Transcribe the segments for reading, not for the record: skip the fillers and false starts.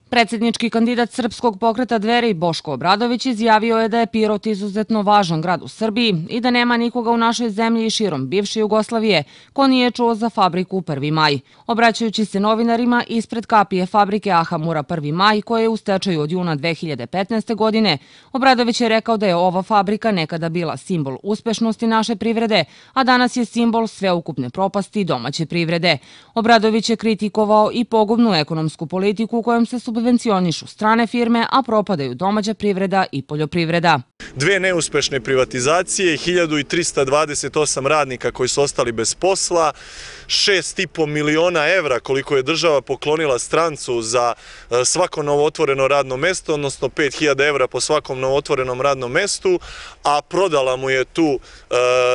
Predsjednički kandidat Srpskog pokreta Dveri Boško Obradović izjavio je da je Pirot izuzetno važan grad u Srbiji i da nema nikoga u našoj zemlji i širom bivše Jugoslavije ko nije čuo za fabriku 1. maj. Obraćajući se novinarima ispred kapije fabrike Ahamura 1. maj, koja je u stečaju od juna 2015. godine, Obradović je rekao da je ova fabrika nekada bila simbol uspešnosti naše privrede, a danas je simbol sveukupne propasti domaće privrede. Obradović je kritikovao i pogubnu ekonomsku politiku kojom se subvencionišu strane firme, a propadaju domaća privreda i poljoprivreda. Dve neuspešne privatizacije, 1328 radnika koji su ostali bez posla, 6,5 miliona evra koliko je država poklonila strancu za svako novootvoreno radno mesto, odnosno 5.000 evra po svakom novootvorenom radnom mestu, a prodala mu je tu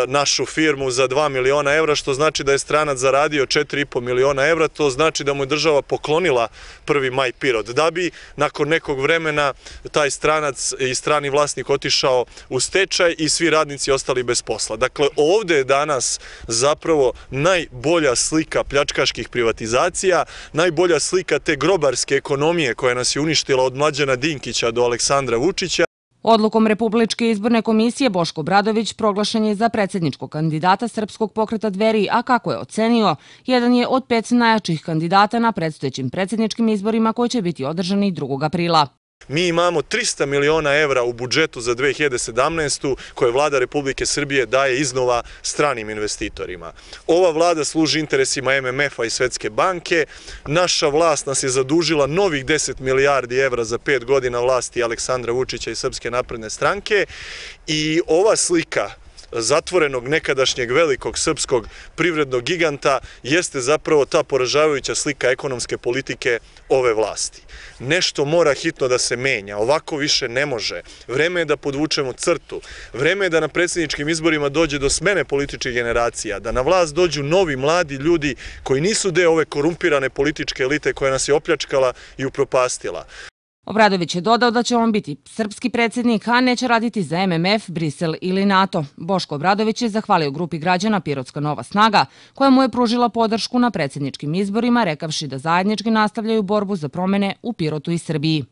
našu firmu za 2 miliona evra, što znači da je stranac zaradio 4,5 miliona evra, to znači da mu je država poklonila 1. maj Pirot, da bi nakon nekog vremena taj stranac i strani vlasnik otišao u stečaj i svi radnici ostali bez posla. Dakle, ovdje je danas zapravo najbolja slika pljačkaških privatizacija, najbolja slika te grobarske ekonomije koja nas je uništila od Mlađana Dinkića do Aleksandra Vučića. Odlukom Republičke izborne komisije Boško Obradović proglašen je za predsjedničkog kandidata Srpskog pokreta Dveri, a kako je ocenio, jedan je od 5 najjačih kandidata na predstojećim predsjedničkim izborima koji će biti održani 2. aprila. Mi imamo 300 miliona evra u budžetu za 2017. koje vlada Republike Srbije daje iznova stranim investitorima. Ova vlada služi interesima MMF-a i Svetske banke. Naša vlast nas je zadužila novih 10 milijardi evra za 5 godina vlasti Aleksandra Vučića i Srpske napredne stranke i ova slika zatvorenog nekadašnjeg velikog srpskog privrednog giganta jeste zapravo ta poražavajuća slika ekonomske politike ove vlasti. Nešto mora hitno da se menja, ovako više ne može. Vreme je da podvučemo crtu, vreme je da na predsjedničkim izborima dođe do smene političkih generacija, da na vlast dođu novi mladi ljudi koji nisu deo ove korumpirane političke elite koja nas je opljačkala i upropastila. Obradović je dodao da će on biti srpski predsjednik, a neće raditi za MMF, Brisel ili NATO. Boško Obradović je zahvalio grupi građana Pirotska nova snaga, koja mu je pružila podršku na predsjedničkim izborima, rekavši da zajednički nastavljaju borbu za promjene u Pirotu i Srbiji.